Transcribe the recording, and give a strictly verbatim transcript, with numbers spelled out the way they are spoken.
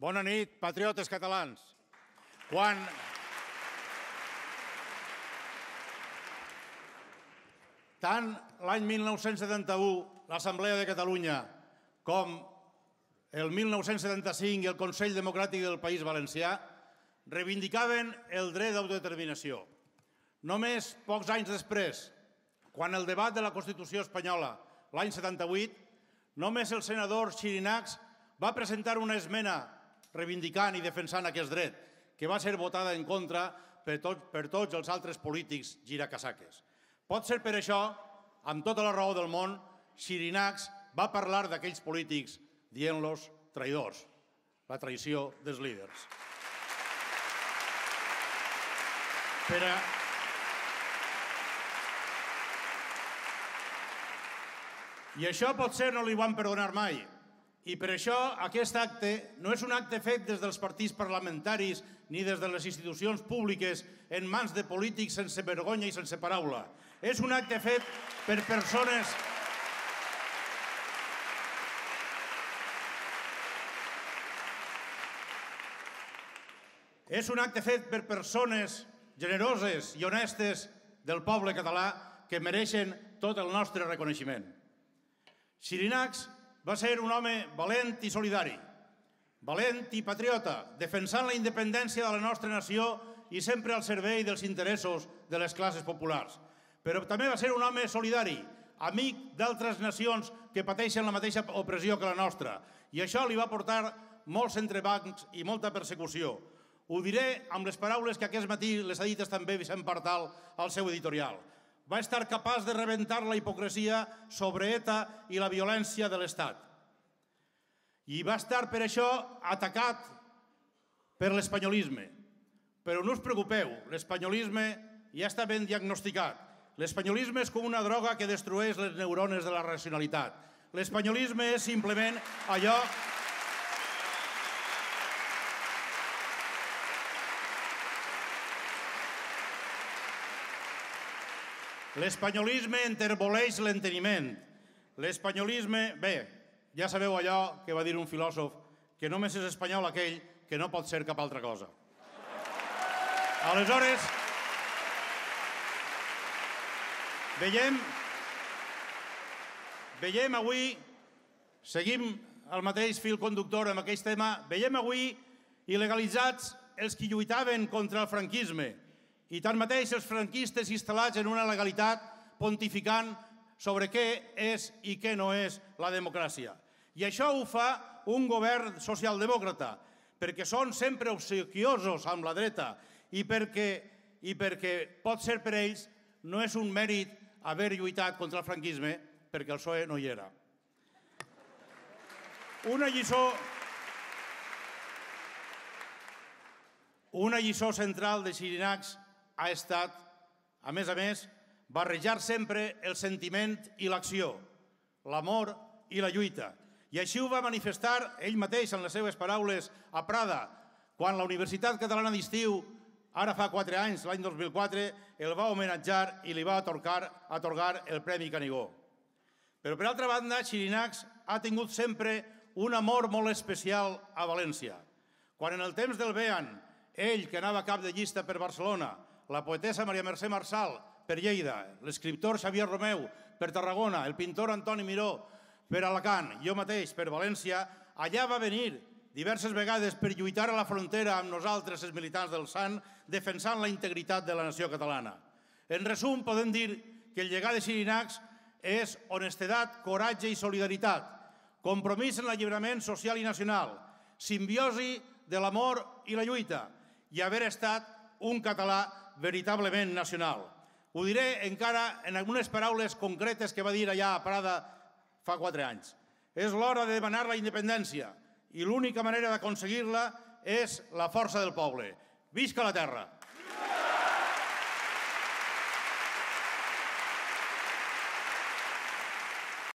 Bona nit, patriotes catalans. Quan... Tant l'any mil nou-cents setanta-u, l'Assemblea de Catalunya, com el mil nou-cents setanta-cinc i el Consell Democràtic del País Valencià reivindicaven el dret d'autodeterminació. Només pocs anys després, quan el debat de la Constitució espanyola, l'any setanta-vuit, només el senador Xirinacs va presentar una esmena reivindicant i defensant aquest dret, que va ser votada en contra per, tot, per tots els altres polítics giracasaques. Pot ser per això, amb tota la raó del món, Xirinacs va parlar d'aquells polítics dient-los traïdors, la traïció dels líders. Per a... I això potser no li van perdonar mai. I per això aquest acte no és un acte fet des dels partits parlamentaris ni des de les institucions públiques en mans de polítics sense vergonya i sense paraula. És un acte fet per persones... És un acte fet per persones generoses i honestes del poble català que mereixen tot el nostre reconeixement. Xirinacs va ser un home valent i solidari, valent i patriota, defensant la independència de la nostra nació i sempre al servei dels interessos de les classes populars. Però també va ser un home solidari, amic d'altres nacions que pateixen la mateixa opressió que la nostra. I això li va portar molts entrebancs i molta persecució. Ho diré amb les paraules que aquest matí les ha dites també Vicent Partal al seu editorial. Va estar capaç de rebentar la hipocresia sobre ETA i la violència de l'Estat. I va estar per això atacat per l'espanyolisme. Però no us preocupeu, l'espanyolisme ja està ben diagnosticat. L'espanyolisme és com una droga que destrueix les neurones de la racionalitat. L'espanyolisme és simplement allò... L'espanyolisme enterboleix l'enteniment. L'espanyolisme... Bé, ja sabeu allò que va dir un filòsof, que només és espanyol aquell que no pot ser cap altra cosa. Aleshores, veiem... Veiem avui, seguim el mateix fil conductor amb aquest tema, veiem avui il·legalitzats els que lluitaven contra el franquisme, i tanmateix els franquistes instal·lats en una legalitat pontificant sobre què és i què no és la democràcia. I això ho fa un govern socialdemòcrata, perquè són sempre obsequiosos amb la dreta i perquè, i perquè pot ser per ells no és un mèrit haver lluitat contra el franquisme perquè el P S O E no hi era. Una lliçó, una lliçó central de Xirinacs ha estat, a més a més, barrejar sempre el sentiment i l'acció, l'amor i la lluita. I així ho va manifestar ell mateix en les seves paraules a Prada, quan la Universitat Catalana d'Estiu, ara fa quatre anys, l'any dos mil quatre, el va homenatjar i li va atorgar el Premi Canigó. Però, per altra banda, Xirinacs ha tingut sempre un amor molt especial a València. Quan en el temps del Bean, ell, que anava cap de llista per Barcelona, la poetessa Maria Mercè Marçal per Lleida, l'escriptor Xavier Romeu per Tarragona, el pintor Antoni Miró per Alacant, jo mateix per València, allà va venir diverses vegades per lluitar a la frontera amb nosaltres, els militants del S A N, defensant la integritat de la nació catalana. En resum, podem dir que el llegat de Xirinacs és honestedat, coratge i solidaritat, compromís en l'alliberament social i nacional, simbiosi de l'amor i la lluita i haver estat un català veritablement nacional. Ho diré encara en algunes paraules concretes que va dir allà a Prada fa quatre anys. És l'hora de demanar la independència i l'única manera d'aconseguir-la és la força del poble. Visca la terra!